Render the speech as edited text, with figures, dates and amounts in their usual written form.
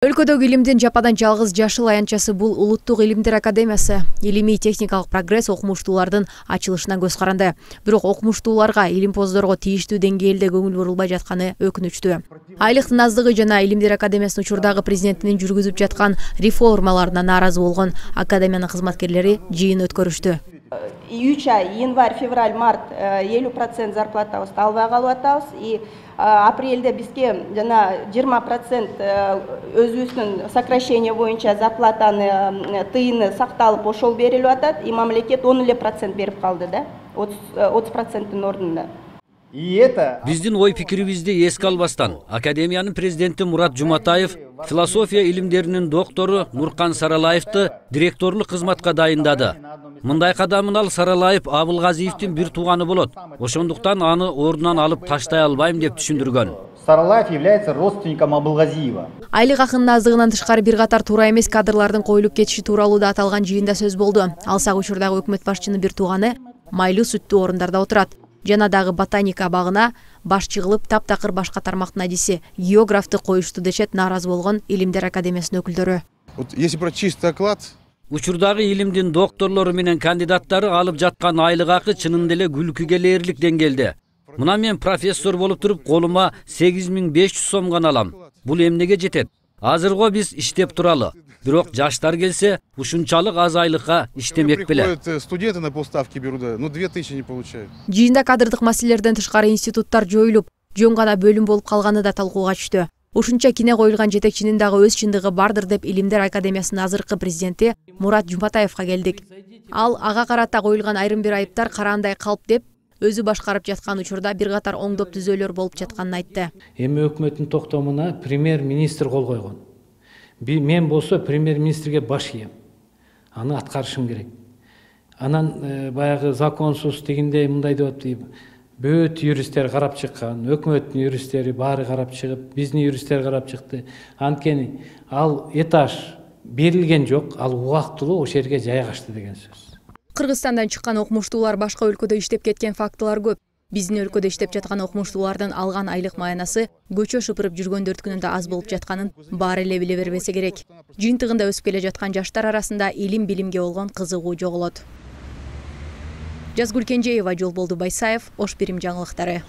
Өлкөдөгү илимдин жападан жалгыз жашыл аянтчасы бул Улуттук илимдер академиясы. Илимий техникалык прогресс окумуштуулардын ачылышына көз каранды. Бирок окумуштууларга, илимпоздорго тийиштүү деңгээлде көңүл бурулбай жатканы өкүнүчтүү. Айлыктын аздыгы жана Илимдер академиясынын учурдагы президентинин жүргүзүп жаткан реформаларына нааразы болгон академиянын кызматкерлери жыйын өткөрүштү. 3 ай, январь, февраль, март 50% зарплатабызды албай калып атабыз. И апрелде бизге жана 20% өзүбүздүн сокращение боюнча зарплатаны тыйыны сакталып ошол берилип атат. И мамлекет 10% берип калды да, 30%-тин ордуна. Биздин ой пикирибизди эске албастан академиянын президенти Мурат Жуматаев философия илимдеринин доктору Нуркан Саралаевди директорлук кызматка дайындады. Мындай кадамын ал Саралаев Абылгазиевдин бир тууганы болот. Ошондуктан аны ордунан алып таштай албайм деп түшүндүргөн. Саралаев является родственником Абылгазиева. Айлык акынын аздыгынан тышкары бир катар туура эмес кадрлардын коюлуп кетиши тууралуу да аталган жыйында сөз болду. Алсак учурдагы өкмөт башчынын бир тууганы майлуу сүттүү орундарда отурат. Жана дагы ботаника багына башчы кылып таптакыр башка тармактын адиси географты коюшту дешет нааразы болгон Илимдер академиясынын өкүлдөрү. Если про чистый оклад, учурдагы илимдин докторлору менен кандидаттары алып жаткан айлык акы чынында эле күлкүгө ээлик деңгээлде. Мына мен профессор болуп туруп колума 8500 сом гана алам. Бул эмнеге жетет? Азырго биз иштеп туралы. Бирок жаштар келсе, ушунчалык аз айлыкка иштемек беле. Студенты на полставки берут, но 2000 не получают. Жыйында кадрдык маселелерден тышкары институттар жоюлуп, жөн гана бөлүм болуп калганы да талкууга түштү. Ушунча кине коюлган жетекчинин дагы өз чындыгы бардыр деп Илимдер академиясынын азыркы президенти Мурат Жуматаевга келдик. Ал ага карата коюлган айрым бир айыптар караандай калп деп өзү башкарып жаткан учурда бир катар оңдоп түзөөлөр болуп жатканын айтты. Эми өкмөттүн токтомуна премьер-министр кол койгон. Мен болсо премьер-министрге баш ийем. Аны аткарышым керек. Анан баягы законсуз дегенде мындай деп атты. Бөт юристтер карап чыккан, өкмөттүн юристтери баары карап чыгып, биздин юристтер карап чыкты. Анткени ал этаж берилген жок, ал убактылуу ошол жерге жайгашты деген сөз. Кыргызстандан чыккан окумуштуулар башка өлкөдө иштеп кеткен фактылар көп. Биздин өлкөдө иштеп жаткан окумуштуулардын алган айлык маянасы көчө шыпырып жүргөндөрдүкүнөн да аз болуп жатканын баары эле биле бербесе керек. Жыйынтыгында өсүп келе жаткан жаштар арасында илим-билимге болгон кызыгуу жоголот. Жазгүл Кенжеева, Жолболду Байсаев, Ош Бирим жаңылыктары.